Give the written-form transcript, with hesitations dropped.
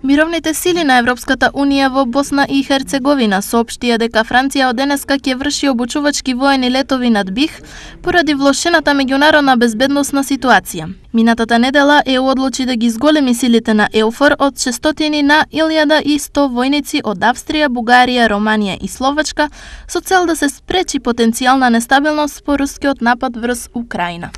Мировните сили на Европската Унија во Босна и Херцеговина соопштија дека Франција од денеска ќе врши обучувачки воени летови над Бих поради влошената меѓународна безбедносна ситуација. Минатата недела ЕУ одлучи да ги зголеми силите на ЕУФОР од 600 на 1100 војници од Австрија, Бугарија, Романија и Словачка со цел да се спречи потенцијална нестабилност по рускиот напад врз Украина.